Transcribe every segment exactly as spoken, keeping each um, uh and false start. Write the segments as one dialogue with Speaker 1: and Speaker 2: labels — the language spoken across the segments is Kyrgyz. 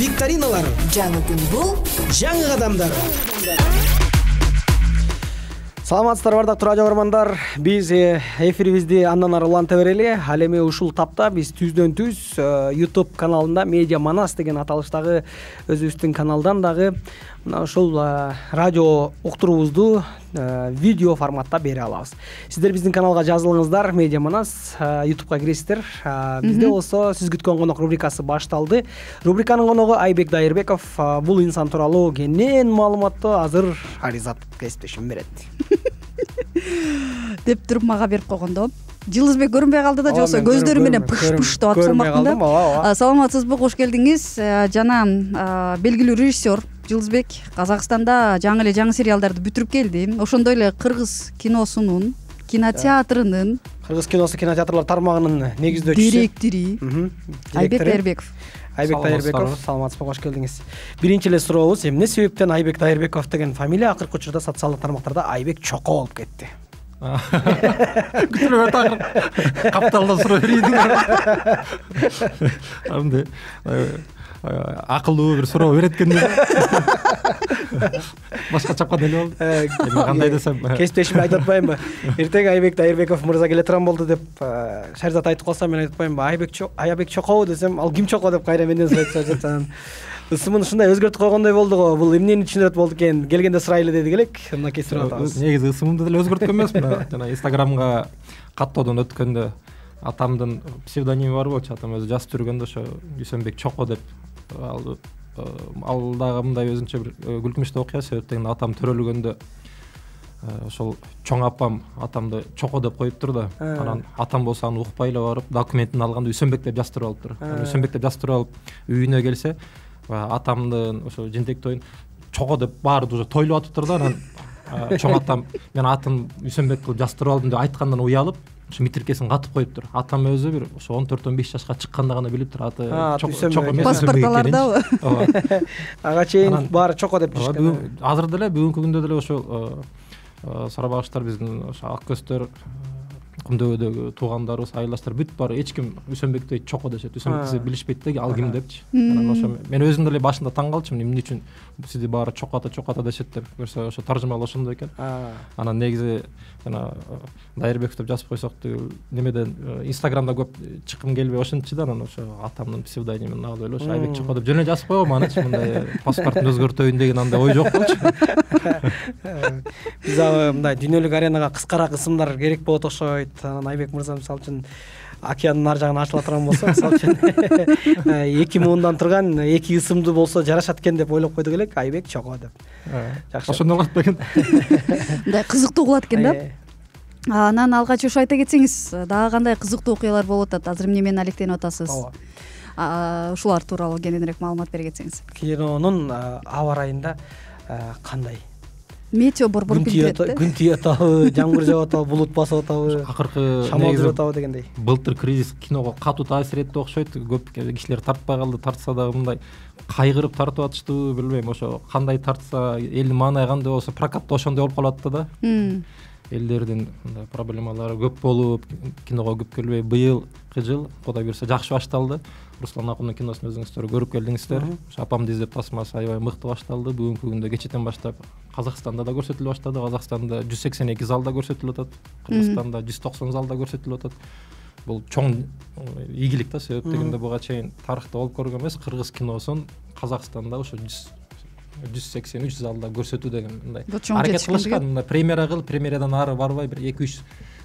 Speaker 1: викториналар.
Speaker 2: Жаңы күн бул,
Speaker 1: жаңы кадамдар. Саламатсыздар бардыктуу радио көрөрмандар. Биз эфирибизди андан ары уланта берели. Ал эми ушул тапта биз түздөн түз YouTube каналында Медиа Манас деген аталыштагы өзүбүздүн каналдан дагы мына ушул радио уктуруубузду видео форматта бере алабыз. Сиздер биздин каналга жазылыңыздар. Медиа Манас YouTubeга киресиздер. Бизде болсо сиз күткөн конок рубрикасы башталды. Рубриканын коногу Айбек Дайырбеков. Бул инсан тууралуу кенен маалыматты азыр Аризат кесиптешим берет.
Speaker 3: деп туруп мага берип койгондо Жылызбек көрүнбөй калды да, жоксо көздөрү менен пыш-пыш деп атып салмактын да. Саламатсызбы, кош келдиңиз. Жана белгилүү режиссер Жылызбек Казакстанда жаңы эле жаңы сериалдарды бүтүрүп келди. Ошондой эле кыргыз киносунун, кинотеатрынын,
Speaker 1: кыргыз киносу кинотеатрлар тармагынын негиздөөчүсү,
Speaker 3: директори Айбек Дайырбеков.
Speaker 1: Айбек Дайырбеков, саламатсызбы, кош келдиңиз. Биринчи эле сурообуз, эмне себептен Айбек Дайырбеков деген фамилия акыркы учурда социалдык тармактарда Айбек Чоко болуп кетти?
Speaker 4: Күтүлүп атыр. Капталдан суроо берейин. Амды акылдуу бир суроо берет экен деп. Башка чапкан эле болду. Эми кандай десем,
Speaker 1: кесиптешиме айтып атпаймынбы? Эртең Айбек Дайырбеков мырза келе турган болду деп Шаризат айтып калса, мен айтып атпаймынбы? Айбек Чоко, Айбек Чокобу десем, ал ким Чоко деп кайра менден сурайт жатат. Ысымын ушундай өзгөртүп койгондой болду го. Бул эмнени түшүнөт болду экен? Келгенде сурайлы дедик элек. Мынакей сурап атабыз.
Speaker 4: Негизи ысымымды деле өзгөрткөн эмесмин. Жана Инстаграмга каттоодон өткөндө атамдын псевдоними бар болчу. Атам өзү жазып жүргөндө ошо Дүйсөнбек Чоко деп. Ал ал дагы мындай өзүнчө бир күлкүнчтүү окуя. Себептен атам төрөлгөндө ошол чоң апам атамды Чоко деп коюптур да. Анан атам болсо аны укпай эле барып документин алганда Дүйсөнбек деп жаздырып алыптыр. Дүйсөнбек деп жаздырып алып үйүнө келсе, атамдын ошо жентек тоюн Чоко деп баары уже тойлоп атыптыр да. Анан чоң атам мен атын Дүйсөнбек кылып жаздырып алдым деп айткандан уялып, ошо митркесин катып коюптур. Атам өзү бир ошо он төрт он беш жашка чыкканда гана билиптир аты Чоко эмес.
Speaker 3: Паспортталардабы?
Speaker 1: Ага чейин баары Чоко деп жүрүшкөн.
Speaker 4: Азыр деле бүгүнкү күндө деле ошол сарабагыштар биздин ошо ак көздөр Кумдөбөдөгү туугандарыбыз, айылдаштар бүт баары эч ким Дүйсөнбекти Чоко дешет. Дүйсөнбекти билишпейт да, ал ким депчи. Анан ошо мен өзүм деле башында таң калчумун, эмне үчүн сизди баары Чоко ата Чоко ата дешет деп. Көрсө ошо таржымал ошондой экен. Анан негизи жана Дайырбеков деп жазып койсок деп немеден Инстаграмда көп чыккым келбей ошентчи да, анан ошо атамдын псевдонимин алып эле ошо Айбек Чоко деп жөн эле жазып койгом. Анычы мындай паспортун өзгөртөйүн деген андай ой жок болчу.
Speaker 1: Биз ага мындай дүйнөлүк аренага кыскараак ысымдар керек болот окшойт. Анан Айбек мырза мисалы үчүн океандын ар жагына ачыла турган болсо, мисалы үчүн эки муундан турган эки ысымды болсо жарашат экен деп ойлоп койдук элек, Айбек Чоко деп.
Speaker 4: Жакшы. Ошондой болот бекен.
Speaker 3: Мындай кызыктуу кылат экен да. Анан алгач ошо айта кетсеңиз, дагы кандай кызыктуу окуялар болуп атат? Азыр эмне менен алектенип атасыз? Ооба. Ушулар тууралуу кененирээк маалымат бере кетсеңиз.
Speaker 1: Кинонун аба ырайында кандай?
Speaker 3: Метео борбор билдирет да.
Speaker 1: Күн тиеп атабы, жамгыр жаап атабы, булут басып атабы,
Speaker 4: акыркы
Speaker 1: шамал жүрүп атабы дегендей.
Speaker 4: Былтыр кризис киного катуу таасир этти окшойт. Көп кишилер тартпай калды, тартса дагы мындай кайгырып тартып атыштыбы, билбейм. Ошо кандай тартса, элдин маанай кандай болсо, прокатта ошондой болуп калат да. Элдердин мындай проблемалары көп болуп, киного көп келбей, быйылкы жыл Кудай буйрса жакшы башталды. Руслан Акундун киносун өзүңүздөр көрүп келдиңиздер. Ошо апамды издеп тасмасы аябай мыкты башталды. Бүгүнкү күндө кечэтен баштап Казакстанда да көрсөтүлө баштады. Казакстанда жүз сексен эки залда көрсөтүлүп атат. Кыргызстанда жүз токсон залда көрсөтүлүп атат. Бул чоң ийгилик да, себеп дегенде буга чейин тарыхта болуп көргөн эмес. Кыргыз киносун Казакстанда ошо жүз сексен үч залда көрсөтүү деген мындай аракет кылышкан. Мындай премьера кылып, премьерадан ары барбай бир эки үч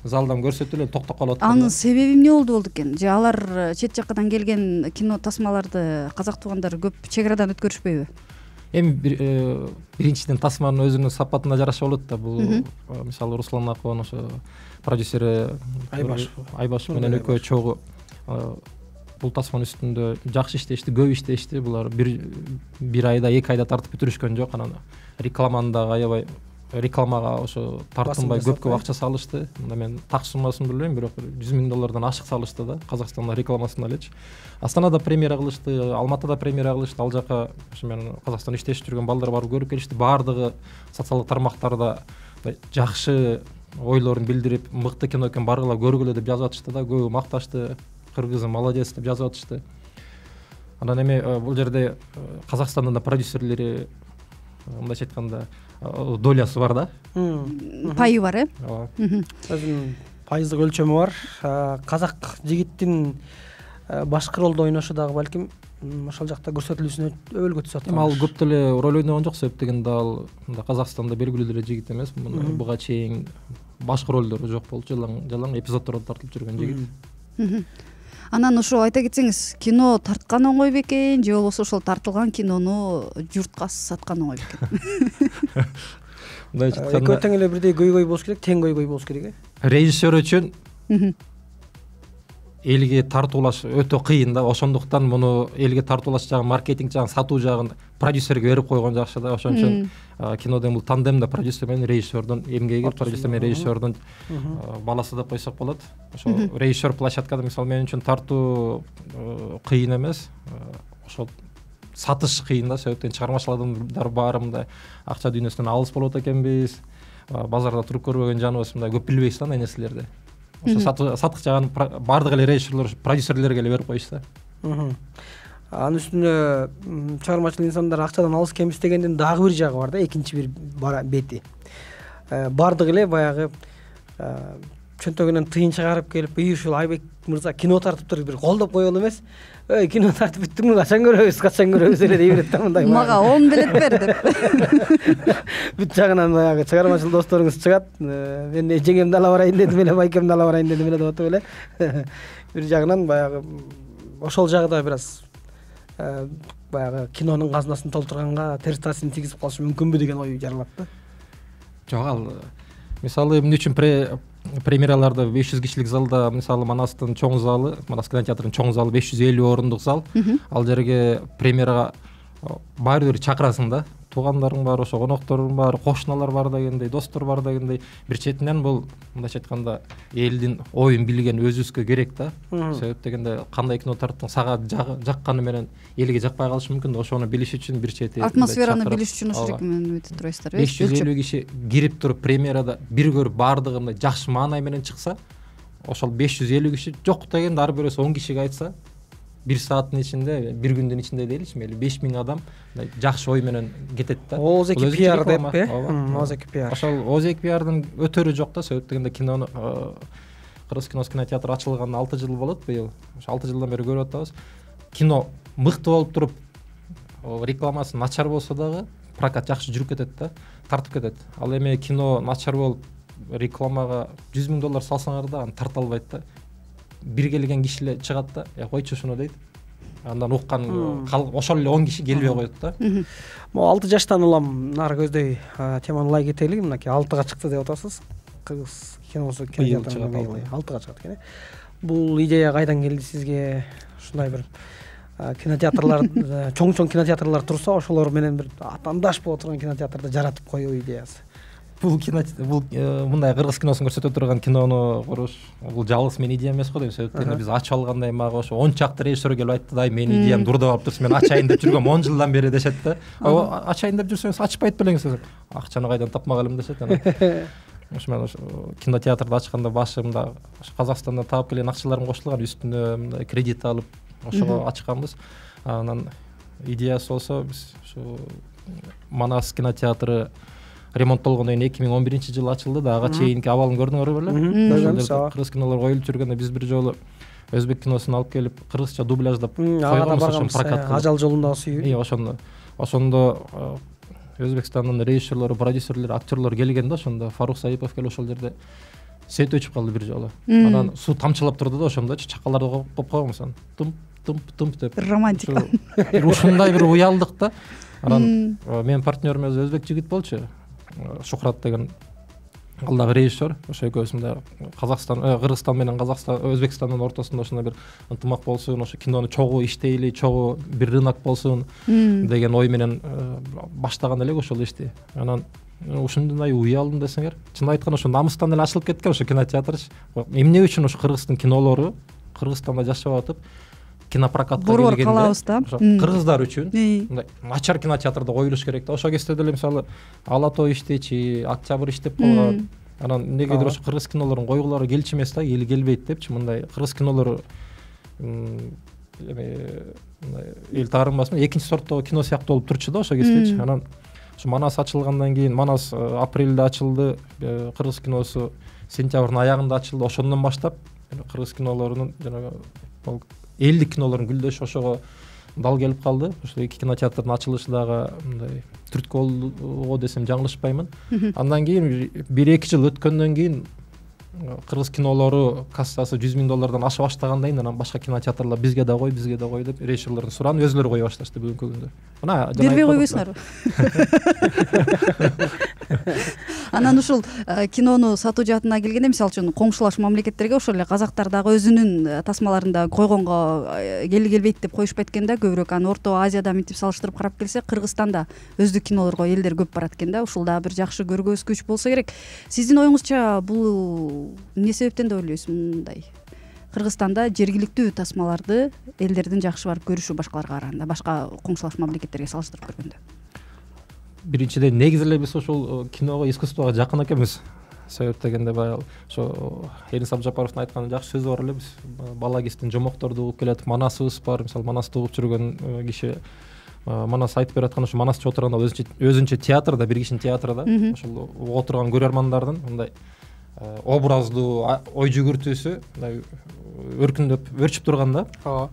Speaker 4: залдан көрсөтүлүп токтоп калып аткан.
Speaker 3: Анын себеби эмне болду болду экен? Же алар чет жаккадан келген кино тасмаларды казак туугандар көп чек арадан өткөрүшпөйбү?
Speaker 4: Эми биринчиден тасманын өзүнүн сапатына жараша болот да. Бул мисалы Руслан Акуан ошо продюсери Айбашев менен экөө чогуу бул тасманын үстүндө жакшы иштешти, көп иштешти. Булар бир бир айда, эки айда тартып бүтүрүшкөн жок. Анан рекламаны дагы аябай рекламага ошо тартынбай көп-көп акча салышты. Мында мен так суммасын билбейм, бирок жүз миң доллардан ашык салышты да Казакстанда рекламасын элечи. Астанада премьера кылышты, Алматыда премьера кылышты. Ал жака ошо менен Казакстанда иштешип жүргөн балдар барып көрүп келишти. Баардыгы социалдык тармактарда жакшы ойлорун билдирип, мыкты кино экен, баргыла көргүлө деп жазып атышты да. Көбү макташты. Кыргызым молодец деп жазып атышты. анан эми бул жерде Казакстандын да продюсерлери мындайча айтканда долясы бар да,
Speaker 3: пайы бар, э?
Speaker 4: ооба,
Speaker 1: өзүнүн пайыздык өлчөмү бар. Казак жигиттин башкы ролду ойношу дагы балким ошол жакта көрсөтүлүүсүнө өбөлгө түшүп аткан.
Speaker 4: Эми ал көп деле роль ойногон жок, себеп дегенде ал Казакстанда белгилүү деле жигит эмес. Буга чейин башкы ролдору жок болчу, жалаң жалаң эпизоддордо тартылып жүргөн жигит.
Speaker 3: Анан ошо айта кетсеңиз, кино тарткан оңой бекен же болбосо ошол тартылган кинону журтка саткан оңой бекен?
Speaker 4: Мындайча айтканда,
Speaker 1: экөө тең эле бирдей көйгөй болуш керек, тең көйгөй болуш керек, э?
Speaker 4: Режиссер үчүн элге тартуулаш өтө кыйын да. Ошондуктан муну элге тартуулаш жагын, маркетинг жагын, сатуу жагын продюсерге берип койгон жакшы да. Ошон үчүн кинодон бул тандем да, продюсер менен режиссердун эмгеги, продюсер менен режиссердун баласы деп койсок болот. Ошо режиссер площадкада мисалы мен үчүн тартуу кыйын эмес. Ошол сатыш кыйын да, себептен чыгармачыл адамдар баары мындай акча дүйнөсүнөн алыс болот экенбиз. Базарда туруп көрбөгөн жаныбыз мындай көп билбейбиз да андай нерселерди. Ошо сатык жагын баардык эле режиссерлер, продюсерлерге эле берип коюшта.
Speaker 1: Анын үстүнө чыгармачыл инсандар акчадан алыс экенбиз дегендин дагы бир жагы бар да, экинчи бир бети. Баардык эле баягы чөнтөгүнөн тыйын чыгарып келип, "Үй ушул Айбек мырза кино тартыптыр" бир колдоп койгон эмес. "Эй, кино тартып бүттүңбү? Качан көрөбүз? Качан көрөбүз?" эле дей берет да мындай.
Speaker 3: Мага он билет бер деп.
Speaker 1: Бүт жагынан баягы чыгармачыл досторуңуз чыгат. Мен жеңемди ала барайын дедим эле, байкемди ала барайын дедим эле деп атып эле. Бир жагынан баягы ошол жагы да бир аз баягы кинонун казынасын толтурганга терс таасирин тийгизип калышы мүмкүнбү деген ой жаралат да.
Speaker 4: Жок, ал мисалы эмне үчүн премьераларда беш жүз кишилик залда, мисалы Манастын чоң залы, Манас кинотеатрынын чоң залы беш жүз элүү орундук зал. Ал жерге премьерага баары бир чакырасың да. Туугандарың бар, ошо конокторуң бар, кошуналар бар дегендей, достор бар дегендей. Бир четинен бул мындайча айтканда элдин оюн билген өзүбүзгө керек да. Себеп дегенде кандай кино тарттың, сага жакканы менен элге жакпай калышы мүмкүн да. Ошону билиш үчүн бир чети
Speaker 3: атмосфераны билиш үчүн ошол жерге менен өтүп турасыздар, э?
Speaker 4: беш жүз элүү киши кирип туруп премьерада бир көрүп баардыгы мындай жакшы маанай менен чыкса, ошол беш жүз элүү киши жок дегенде ар бирөөсү он кишиге айтса, бир сааттын ичинде, бир күндүн ичинде дейличи, мейли беш миң адам жакшы ой менен кетет да.
Speaker 1: Ооз-эки пиар деп, э? Ооз-эки пиар.
Speaker 4: Ошол ооз-эки пиардын өтөрү жок да, себеп дегенде кинону Кыргыз кино кинотеатры ачылганына алты жыл болот быйыл. Ошо алты жылдан бери көрүп атабыз. Кино мыкты болуп туруп, рекламасы начар болсо дагы прокат жакшы жүрүп кетет да, тартып кетет. Ал эми кино начар болуп рекламага жүз миң доллар салсаңар да аны тарта албайт да. Бир келген кишилер чыгат да, "Я койчу ушуну" дейт. Андан уккан ошол эле он киши келбей коет да.
Speaker 1: Могу алты жаштан улам нары көздөй теманы лай кетели. Мынакей алтыга чыкты деп атасыз. Кыргыз киносу кинотеатрында алтыга чыгат экен. Бул идея кайдан келди сизге? Ушундай бир кинотеатрлар, чоң-чоң кинотеатрлар турса, ошолор менен бир атаандаш боло турган кинотеатрды жаратып коюу идеясы.
Speaker 4: Бул кино, бул мындай кыргыз киносун көрсөтө турган кинону куруш, бул жалгыз менин идеям эмес го дейм. Себептен биз ачып алгандай мага ошо он чакты режиссер келип айтты да, менин идеям дурдап алыптыр, мен ачайын деп жүргөм он жылдан бери дешет да. Ачайын деп жүрсөңүз ачпайт белеңиз. Акчаны кайдан тапмак элем дешет. Ошо мен ошо кинотеатрды ачканда башымда Казакстандан таап келген акчаларым кошулган, үстүнө мындай кредит алып ошого ачканбыз. Анан идеясы болсо биз ушу Манас кинотеатры ремонттолгондон кийин эки миң он биринчи жылы ачылды да, ага чейинки абалын көрдүңөр беле? Кыргыз кинолор коюлуп жүргөндө биз бир жолу өзбек киносун алып келип кыргызча дубляждап койгонбуз, ошону прокат кылып.
Speaker 1: Ажал жолундагы сүйүү.
Speaker 4: Ошондо ошондо Өзбекстандын режиссерлору, продюсерлери, актерлор келген да, ошондо Фарук Саипов келип ошол жерде свет өчүп калды бир жолу. Анан суу тамчылап турду да, ошондочу чакаларды коюп койгонбуз, анан тымп тымп тымп деп.
Speaker 3: Романтика.
Speaker 4: Ушундай бир уялдык да. Анан менин партнерим өзбек жигит болчу, Шухрат деген, ал дагы режиссер. Ошо экөөбүз мындай Казакстан, Кыргызстан менен Казакстан, Өзбекстандын ортосунда ушундай бир ынтымак болсун, ошо кинону чогуу иштейли, чогуу бир рынок болсун деген ой менен баштаган элек ошол ишти. Анан ушундай уялдым десеңер, чын айтканда ошо намыстан эле ачылып кеткен ошо кинотеатрчы. Эмне үчүн ошо Кыргыздын кинолору Кыргызстанда жашап атып кинопрокатка келгенде
Speaker 3: калабыз да.
Speaker 4: Кыргыздар үчүн мындай начар кинотеатрда коюлуш керек да. Ошо кезде деле мисалы Ала тоо иштечи, Октябрь иштеп калган. Анан эмнегедир ошо кыргыз кинолорун койгулары келчү эмес да, эл келбейт депчи. Мындай кыргыз кинолору эме эл таарынбасмын, экинчи сорттогу кино сыяктуу болуп турчу да ошо кездечи. Анан ушу Манас ачылгандан кийин, Манас апрелде ачылды, кыргыз киносу сентябрдын аягында ачылды. Ошондон баштап кыргыз кинолорунун жанагы элдик кинолордун гүлдөшү ошого дал келип калды. Ошо эки кинотеатрдын ачылышы дагы мындай түрткү болду десем жаңылышпаймын. Андан кийин бир эки жыл өткөндөн кийин кыргыз кинолору кассасы жүз миң доллардан аша баштагандан кийин анан башка кинотеатрлар бизге да кой, бизге да кой деп режиссерлордун сураанын өзүлөрү кое башташты бүгүнкү күндө. Мына
Speaker 3: бербей койбойсуңарбы? Анан ушул кинону сатуу жаатына келгенде, мисалы үчүн коңшулаш мамлекеттерге ошол эле казактар дагы өзүнүн тасмаларында койгонго кели келбейт деп коюшпайт экен да. Көбүрөөк аны Орто Азияда мынтип салыштырып карап келсе, Кыргызстанда өздүк кинолорго элдер көп барат экен да. Ушул дагы бир жакшы көргөзгүч болсо керек. Сиздин оюңузча бул эмне себептен деп ойлойсуз? Мындай Кыргызстанда жергиликтүү тасмаларды элдердин жакшы барып көрүшү башкаларга караганда, башка коңшулаш мамлекеттерге салыштырып көргөндө.
Speaker 4: Биринчиден негизи эле биз ошол киного, искусствого жакын экенбиз. Себеп дегенде баягы ошо Эрис Абжапаровдун айткан жакшы сөзү бар эле, биз бала кезден жомокторду угуп келатып, Манасыбыз бар. Мисалы Манасты угуп жүргөн киши Манас айтып бераткан ошо Манасчы отурганда өзүнчө өзүнчө театрда, бир кишинин театрда ошол угуп отурган көрөрмандардын мындай образдуу ой жүгүртүүсү мындай өркүндөп өрчүп турганда. Ооба.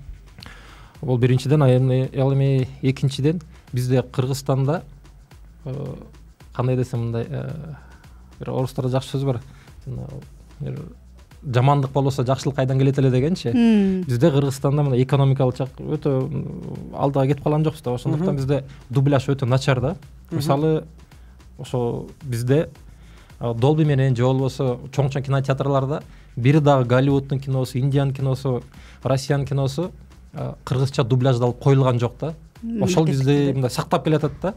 Speaker 4: Бул биринчиден, ал эми экинчиден бизде Кыргызстанда кандай десем мындай бир орустарда жакшы сөз бар. Жамандык болбосо жакшылык кайдан келет эле дегенчи. Бизде Кыргызстанда мына экономикалык жак өтө алдыга кетип калган жокпуз да. Ошондуктан бизде дубляж өтө начар да. Мисалы ошо бизде Долби менен же болбосо чоң-чоң кинотеатрларда бир дагы Голливуддун киносу, Индиянын киносу, Россиянын киносу кыргызча дубляждалып коюлган жок да. Ошол бизде мындай сактап келатат да.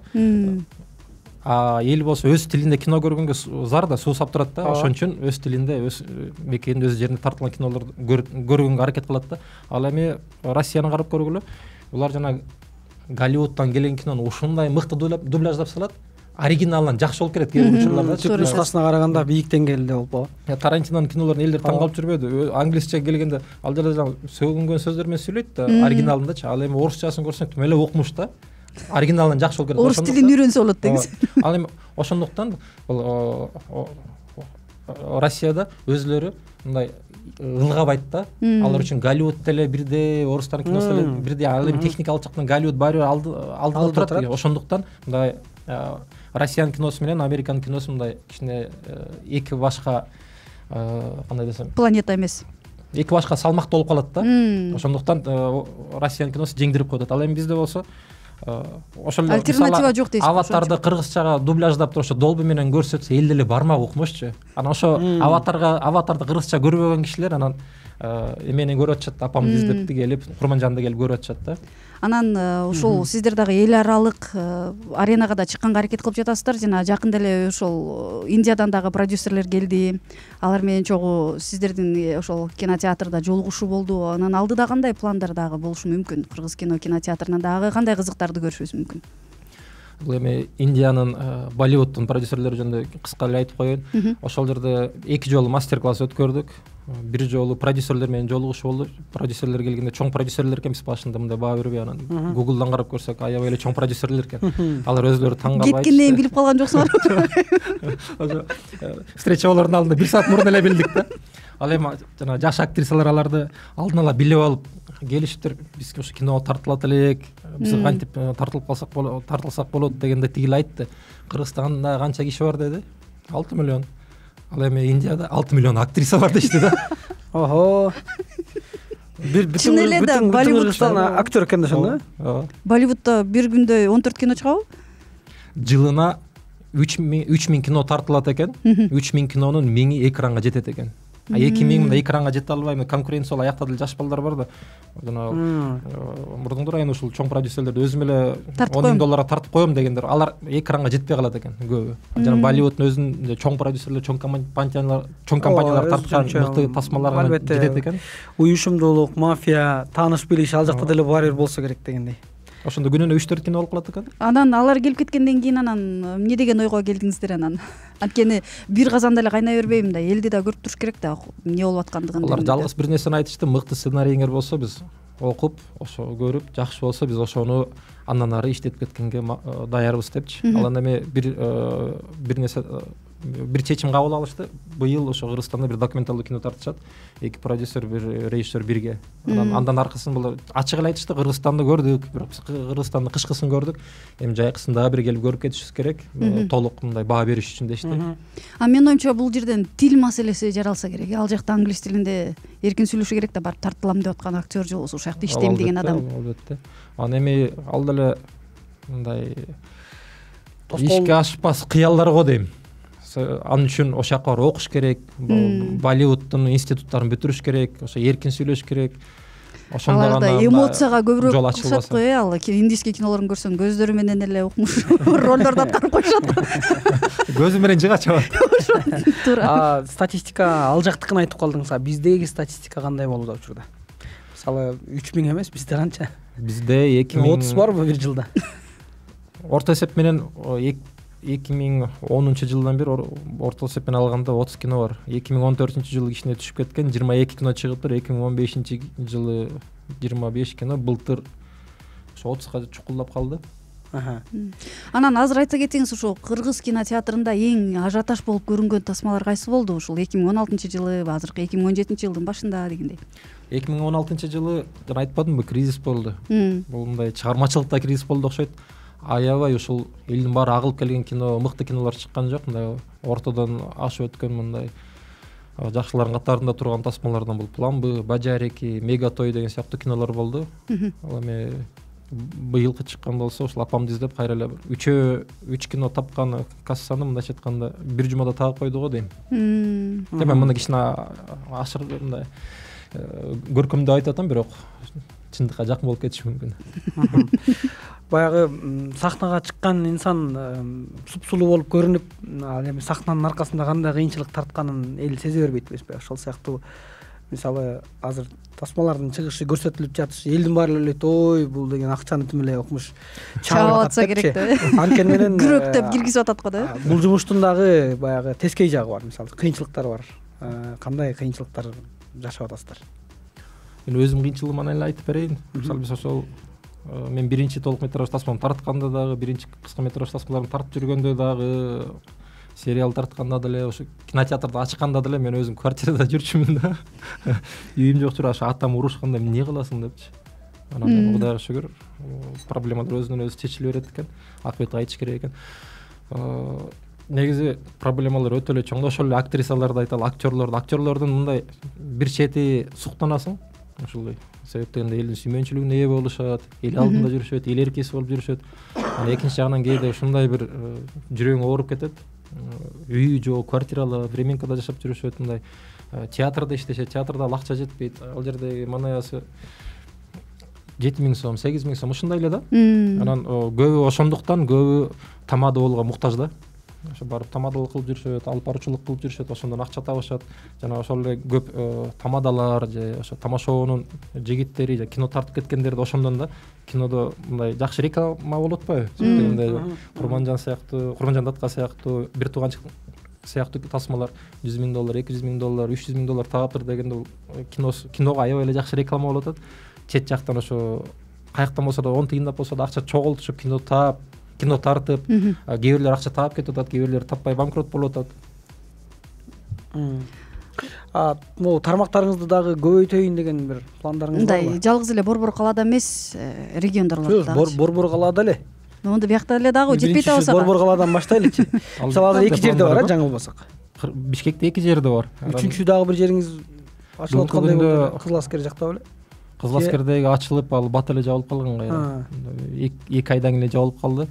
Speaker 4: А эл болсо өз тилинде кино көргөнгө зар да, суусап турат да. Ошон үчүн өз тилинде, өз мекенинде, өз жеринде тартылган кинолорду көргөнгө аракет кылат да. Ал эми Россияны карап көргүлө. Булар жана Голливудтан келген кинону ушундай мыкты дубляждап салат. Оригиналынан жакшы болуп келет кээ бир учурларда.
Speaker 1: Түп нускасына караганда бийик деңгээлде болуп калат.
Speaker 4: Тарантинонун кинолорун элдер таң калып жүрбөдү. Англисче келгенде ал жерде сөгүнгөн сөздөр менен сүйлөйт да, оригиналындачы. Ал эми орусчасын көрсөң тим эле укмуш да. Оригиналынан жакшы болуп келет.
Speaker 3: Орус тилин үйрөнсө болот деңиз.
Speaker 4: Ал эми ошондуктан бул Россияда өзүлөрү мындай ылгабайт да. Алар үчүн Голливуд деле бирдей, орустардын киносу деле бирдей. Ал эми техникалык жактан Голливуд баары алдыда турат. Ошондуктан мындай Россиянын киносу менен Американын киносу мындай кичине эки башка кандай десем,
Speaker 3: планета эмес.
Speaker 4: Эки башка салмактуу болуп калат да. Ошондуктан Россиянын киносу жеңдирип коет. Ал эми бизде болсо ошол эле
Speaker 3: альтернатива жок дейсиз.
Speaker 4: Аватарды кыргызчага дубляждап туруп ошо Долби менен көрсөтсө эл деле бармак укмушчу. Анан ошо аватарга аватарды кыргызча көрбөгөн кишилер анан эмени көрүп атышат, апамды издеп келип, Курманжанды келип көрүп атышат да.
Speaker 3: Анан ушул сиздер дагы эл аралык аренага да чыкканга аракет кылып жатасыздар. Жана жакында эле ошол Индиядан дагы продюсерлер келди. Алар менен чогуу сиздердин ошол кинотеатрда жолугушуу болду. Анан алдыда кандай пландар дагы болушу мүмкүн? Кыргыз кино кинотеатрынан дагы кандай кызыктарды көрүшүбүз мүмкүн?
Speaker 4: Бул эми Индиянын Болливуддун продюсерлери жөнүндө кыска эле айтып коеюн. Ошол жерде эки жолу мастер-класс өткөрдүк. Бир жолу продюсерлер менен жолугушуу болду. Продюсерлер келгенде чоң продюсерлер экен, биз башында мындай баа бербей, анан Google'дан карап көрсөк аябай эле чоң продюсерлер экен. Алар өзлөрү таң калып айтышты.
Speaker 3: Кеткенден билип калган жоксуңарбы?
Speaker 4: Ошо встреча болордун алдында бир саат мурун эле билдик да. Ал эми жана жаш актрисалар аларды алдын ала билип алып келишиптир. Биз ошо киного тартылат элек, биз кантип тартылып калсак болот, тартылсак болот дегенде тигил айтты. Кыргызстанда канча киши бар деди? алты миллион. Ал эми Индияда алты миллион актриса бар дешти да.
Speaker 1: Ого. Бир бүтүн бүтүн Кыргызстан актер экен да ошондо.
Speaker 4: Ооба.
Speaker 3: Болливудда бир күндө он төрт кино чыгабы?
Speaker 4: Жылына үч миң кино тартылат экен. үч миң кинонун миңи экранга жетет экен. А эки миң мындай экранга жете албайм. Конкуренция ал аякта деле жаш балдар бар да. Жана мурдуңдур айын ушул чоң продюсерлерди өзүм эле он миң долларга тартып коем дегендер, алар экранга жетпей калат экен көбү. Жана Болливуддун өзүнүн чоң продюсерлер, чоң компаниялар, чоң компаниялар тарткан мыкты тасмаларга жетет экен.
Speaker 1: Уюшумдуулук, мафия, тааныш билиш ал жакта деле баары бир болсо керек дегендей.
Speaker 4: Ошондо күнүнө үч төрт кино болуп калат экен.
Speaker 3: Анан алар келип кеткенден кийин анан эмне деген ойго келдиңиздер анан? Анткени бир казанда эле кайнай бербейм да, элди да көрүп туруш керек да, эмне болуп аткандыгын.
Speaker 4: Алар жалгыз бир нерсени айтышты, мыкты сценарииңер болсо биз окуп ошо көрүп жакшы болсо биз ошону андан ары иштетип кеткенге даярбыз депчи. Ал анда эми бир бир нерсе бир чечим кабыл алышты. Быйыл ошо Кыргызстанда бир документалдуу кино тартышат. Эки продюсер, бир режиссер бирге. Анан андан аркасын булар ачык эле айтышты, Кыргызстанды көрдүк, бирок биз Кыргызстандын кышкысын көрдүк. Эми жайкысын дагы бир келип көрүп кетишибиз керек. Толук мындай баа бериш үчүн дешти.
Speaker 3: А менин оюмча бул жерден тил маселеси жаралса керек. Ал жакта англис тилинде эркин сүйлөшү керек да, барып тартылам деп аткан актер же болбосо ушул жакта иштейм деген адам.
Speaker 4: Албетте. Анан эми ал деле мындай ишке ашпас кыялдар го дейм. Анын үчүн ошол жака барып окуш керек, Болливуддун институттарын бүтүрүш керек, ошо эркин сүйлөш керек.
Speaker 3: Ошондо гана эмоцияга көбүрөөк окшот го, э, ал индийский кинолорун көрсөң көздөрү менен эле укмуш ролдорду аткарып коюшат.
Speaker 4: Көзү менен жыга чабат.
Speaker 1: Туура. Статистика ал жактыкын айтып калдыңыз. Биздеги статистика кандай болууда учурда? Мисалы үч миң эмес, бизде канча?
Speaker 4: Бизде эки миң
Speaker 1: отуз барбы бир жылда?
Speaker 4: Орто эсеп менен эки миң онунчу жылдан бери орто эсеп менен алганда отуз кино бар. эки миң он төртүнчү жылы кичине түшүп кеткен, жыйырма эки кино чыгыптыр. эки миң он бешинчи жылы жыйырма беш кино, былтыр ошо отузга чукулдап калды.
Speaker 3: Анан азыр айта кетиңиз, ушул кыргыз кинотеатрында эң ажиотаж болуп көрүнгөн тасмалар кайсы болду? Ушул эки миң он алтынчы жылы, азыркы эки миң он жетинчи жылдын башында дегендей.
Speaker 4: эки миң он алтынчы жылы жана айтпадымбы, кризис болду. Бул мындай чыгармачылыкта кризис болду окшойт. Аябай ушул элдин баары агылып келген кино, мыкты кинолор чыккан жок. Мындай ортодон ашып өткөн мындай жакшылардын катарында турган тасмалардан бул Пламбы, Бажареки, Мегатой деген сыяктуу кинолор болду. Ал эми быйылкы чыккан болсо ушул апамды издеп кайра эле үчөө үч кино тапкан кассаны мындайча айтканда бир жумада тагып койду го дейм. Эми мына кичине ашыр мындай көркөмдөп айтып атам, бирок чындыкка жакын болуп кетиши мүмкүн.
Speaker 1: Баягы сахнага чыккан инсан супсулуу болуп көрүнүп, ал эми сахнанын аркасында кандай кыйынчылык тартканын эл сезе бербейт эмеспи? Ошол сыяктуу мисалы азыр тасмалардын чыгышы көрсөтүлүп жатышы, элдин баары эле ой бул деген акчаны тим эле укмуш
Speaker 3: чабып атса керек да.
Speaker 1: Анткени менен
Speaker 3: күрөктөп киргизип атат го да.
Speaker 1: Бул жумуштун дагы баягы тескей жагы бар, мисалы кыйынчылыктар бар. Кандай кыйынчылыктар жашап атасыздар?
Speaker 4: Мен өзүм кыйынчылыгыман эле айтып берейин. Мисалы биз ошол мен биринчи толук метраж тасманы тартканда дагы, биринчи кыска метраж тасмаларын тартып жүргөндө дагы, сериал тартканда деле, ошо кинотеатрды ачканда деле мен өзүм квартирада жүрчүмүн да. Үйүм жок жүрө, ошо атам урушканда эмне кыласың депчи. Анан Кудайга шүгүр, проблемалар өзүнөн өзү чечиле берет экен. Акыбет айтыш керек экен. Негизи проблемалар өтө эле чоң. Ошол эле актрисаларды айталы, актерлорду, актерлордун мындай бир чети суктанасың. Ушул себептен элдин сүймөнчүлүгүнө ээ болушат, эл алдында жүрүшөт, эл эркеси болуп жүрүшөт. Анан экинчи жагынан кээде ушундай бир жүрөгүң ооруп кетет. Үй жок, квартиралар, временкада жашап жүрүшөт, мындай театрда иштешет, театрда акча жетпейт. Ал жерде манаясы жети миң сом, сегиз миң сом ушундай эле да. Анан көбү ошондуктан көбү тамада болууга муктаж да. Ошо барып тамадалык кылып жүрүшөт, алып баруучулук кылып жүрүшөт, ошондон акча табышат. Жана ошол эле көп тамадалар же ошо тамашоонун жигиттери же кино тартып кеткендерди ошондон да. Кинодо мындай жакшы реклама болуп атпайбы? Дегенде Курманжан сыяктуу, Курманжан Датка сыяктуу, Бир тууганчык сыяктуу тасмалар жүз миң доллар, эки жүз миң доллар, үч жүз миң доллар тагаптыр дегенде кино киного аябай эле жакшы реклама болуп атат. Чет жактан ошо каяктан болсо да он тыйындап болсо да акча чогултушуп кино таап, кино тартып, кээ бирлер акча таап кетип атат, кээ бирлер таппай банкрот болуп атат.
Speaker 1: А могу тармактарыңызды дагы көбөйтөйүн деген бир пландарыңыз барбы?
Speaker 3: Мындай жалгыз эле Борбор калаада эмес, региондорлордо дагы.
Speaker 1: Борбор калаада эле.
Speaker 3: Мондо биякта эле дагы жетпейт абаса.
Speaker 1: Борбор калаадан баштайлычы. Мисалы азыр эки жерде бар, жаңылбасак.
Speaker 4: Бишкекте эки жерде бар.
Speaker 1: Үчүнчү дагы бир жериңиз ачылып аткандай болду. Кызыл Аскер жакта беле?
Speaker 4: Кызыл Аскердеги ачылып, ал бат эле жабылып калган кайра. эки айдан эле жабылып калды.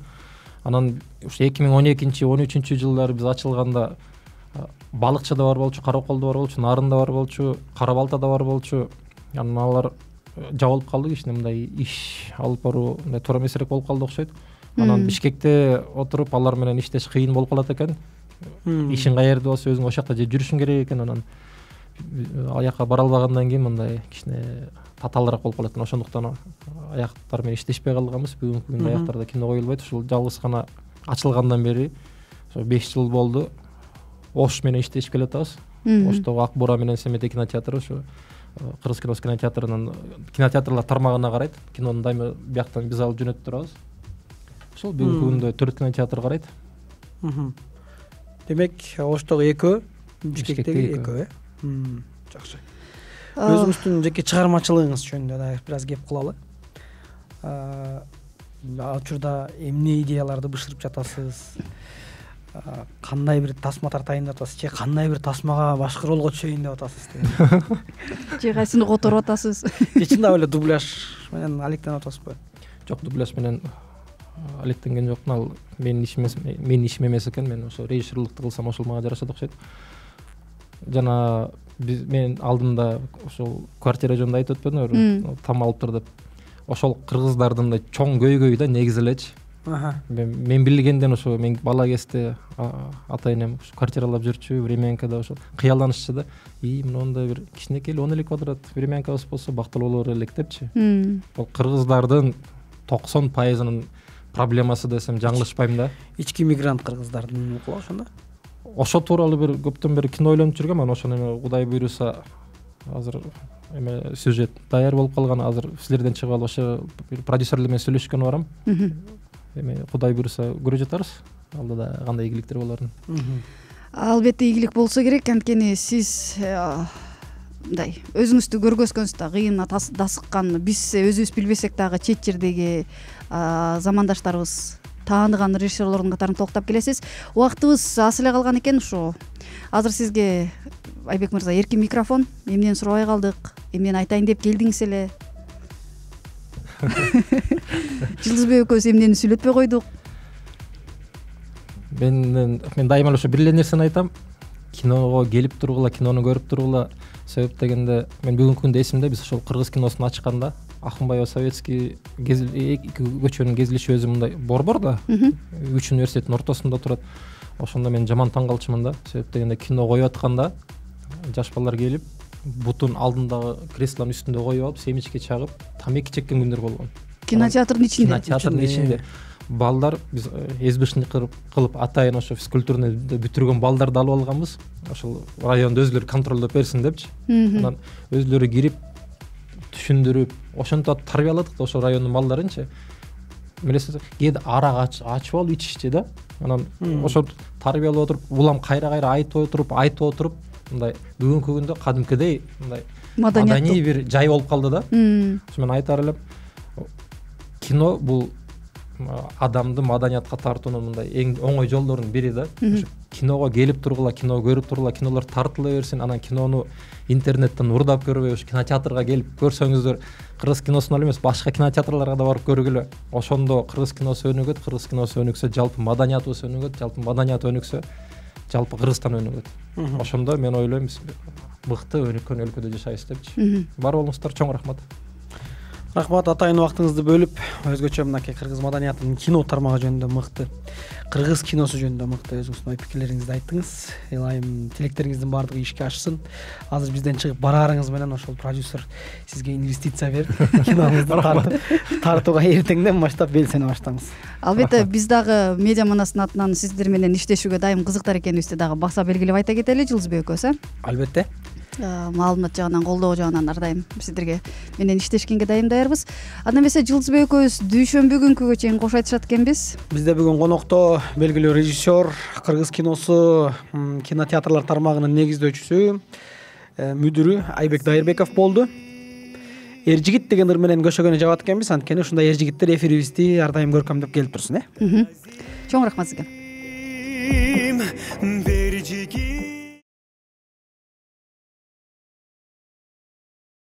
Speaker 4: Анан ушу эки миң он экинчи он үчүнчү жылдары биз ачылганда Балыкчыда бар болчу, Караколдо бар болчу, Нарында бар болчу, Кара Балтада бар болчу. Анан алар жабылып калды, кичине мындай иш алып баруу мындай туура эмесирээк болуп калды окшойт. Анан Бишкекте отуруп алар менен иштеш кыйын болуп калат экен. Ишиң каерде болсо өзүң ошол жакта же жүрүшүң керек экен. Анан аяка бара албагандан кийин мындай кичине татаалыраак болуп калат экен. Ошондуктан аяктар менен иштешпей калганбыз. Бүгүнкү күндө аяктарда кино коюлбайт. Ушул жалгыз гана ачылгандан бери ошо беш жыл болду. Ош менен иштешип келатабыз. Оштогу Ак Бура менен Семете кинотеатры ошо кыргыз киносу кинотеатрынын кинотеатрлар тармагына карайт. Кинону дайыма бияктан биз алып жөнөтүп турабыз. Ошол бүгүнкү күндө төрт кинотеатр карайт.
Speaker 1: Демек, Оштогу экөө, Бишкектеги экөө, э? Жакшы. Өзүңүздүн жеке чыгармачылыгыңыз жөнүндө да бир аз кеп кылалы. Ал учурда эмне идеяларды бышырып жатасыз? Кандай бир тасма тартайын деп атасыз, же кандай бир тасмага башкы ролго түшөйүн деп атасыз?
Speaker 3: Же кайсыны которуп атасыз?
Speaker 1: Же чындап эле дубляж менен алектенип атасызбы?
Speaker 4: Жок, дубляж менен алектенген жокмун. Ал менин ишим эмес, менин ишим эмес экен. Мен ошо режиссерлукту кылсам ошол мага жарашат окшойт. Жана биз мен алдында ошол квартира жөнүндө айтып өтпөдүмбү? Там алыптыр деп. Ошол кыргыздардын да чоң көйгөйү да негизи элечи. Мен билгенден ошо мен бала кезде ата энем квартиралап жүрчү, времянкада ошо кыялданышчу да. И мондай бир кичинекей он эле квадрат времянкабыз болсо бактылуу болор элек депчи. Бул кыргыздардын токсон пайызынын проблемасы десем жаңылышпайм да.
Speaker 1: Ички мигрант кыргыздардын укула ошондо?
Speaker 4: Ошо тууралуу бир көптөн бери кино ойлонуп жүргөм. Анан ошону эме Кудай буйруса азыр эме сюжет даяр болуп калган. Азыр силерден чыгып алып ошо бир продюсерлер менен сүйлөшкөнү барам. Эме Кудай буйруса көрө жатарбыз. Алдыда кандай ийгиликтер болорун.
Speaker 3: Албетте ийгилик болсо керек, анткени сиз мындай өзүңүздү көргөзгөнсүз да, кыйын дасыккан, биз өзүбүз билбесек дагы чет жердеги замандаштарыбыз тааныган режиссерлордун катарын толуктап келесиз. Убактыбыз аз эле калган экен. Ушу азыр сизге Айбек мырза эркин микрофон. Эмнени сурабай калдык? Эмнени айтайын деп келдиңиз эле? Жылдызбек экөөбүз эмнени сүйлөтпөй койдук?
Speaker 4: Мен мен дайыма ошо бир эле нерсени айтам. Киного келип тургула, кинону көрүп тургула. Себеп дегенде мен бүгүнкү күндө эсимде, биз ошол кыргыз киносун ачканда Акмбаева Советский көчөнүн кезилиши өзү мындай борбор да. Үч университеттин ортосунда турат. Ошондо мен жаман таң калчумун да. Себеп дегенде кино коюп атканда жаш балдар келип, бутун алдындагы креслонун үстүндө коюп алып, семечке чагып, тамеки чеккен күндөр болгон.
Speaker 3: Кинотеатрдын ичинде.
Speaker 4: Кинотеатрдын ичинде. Балдар биз эсбишник кылып атайын ошо физкультурный бүтүргөн балдарды алып алганбыз. Ошол райондо өзүлөрү контролдоп берсин депчи. Анан өзүлөрү кирип түшүндүрүп, ошентип тарбияладык да ошол райондун балдарынчы. Билесиз, кээде арак ачып алып ичишчи да. Анан ошо тарбиялап отуруп, улам кайра-кайра айтып отуруп, айтып отуруп, мындай бүгүнкү күндө кадимкидей мындай маданий бир жай болуп калды да. Ошо мен айтар элем, кино бул адамды маданиятка тартуунун мындай эң оңой жолдорунун бири да. Киного келип тургула, кино көрүп тургула, кинолор тартыла берсин. Анан кинону интернеттен урдап көрбөй, ушу кинотеатрга келип көрсөңүздөр, кыргыз киносуна эле эмес, башка кинотеатрларга да барып көргүлө. Ошондо кыргыз киносу өнүгөт, кыргыз киносу өнүксө, жалпы маданиятыбыз өнүгөт, жалпы маданият өнүксө, жалпы Кыргызстан өнүгөт. Ошондо мен ойлойм, биз мыкты өнүккөн өлкөдө жашайбыз депчи. Бар болуңуздар, чоң рахмат.
Speaker 1: Рахмат, атайын убактыңызды бөлүп, өзгөчө мынакей кыргыз маданиятынын кино тармагы жөнүндө мыкты, кыргыз киносу жөнүндө мыкты өзүңүздүн ой пикирлериңизди айттыңыз. Ылайым тилектериңиздин баардыгы ишке ашсын. Азыр бизден чыгып бараарыңыз менен ошол продюсер сизге инвестиция берип, киноңузду тартып, тартууга эртеңден баштап белсене баштаңыз.
Speaker 3: Албетте, биз дагы Медиа Манастын атынан сиздер менен иштешүүгө дайым кызыктар экенибизди дагы баса белгилеп айта кетели, Жылдызбек экөөбүз, э?
Speaker 1: Албетте.
Speaker 3: Маалымат жагынан, колдоо жагынан ар дайым сиздерге менен иштешкенге дайым даярбыз. Анда эмесе Жылдызбек экөөбүз дүйшөмбү күнгүгө чейин кош айтышат экенбиз.
Speaker 1: Бизде бүгүн конокто белгилүү режиссер, кыргыз киносу кинотеатрлар тармагынын негиздөөчүсү, мүдүрү Айбек Дайырбеков болду. Эр жигит деген ыр менен көшөгөнү жабат экенбиз, анткени ушундай эр жигиттер эфирибизди ар дайым көркөмдөп келип турсун, э?
Speaker 3: Чоң рахмат сизге.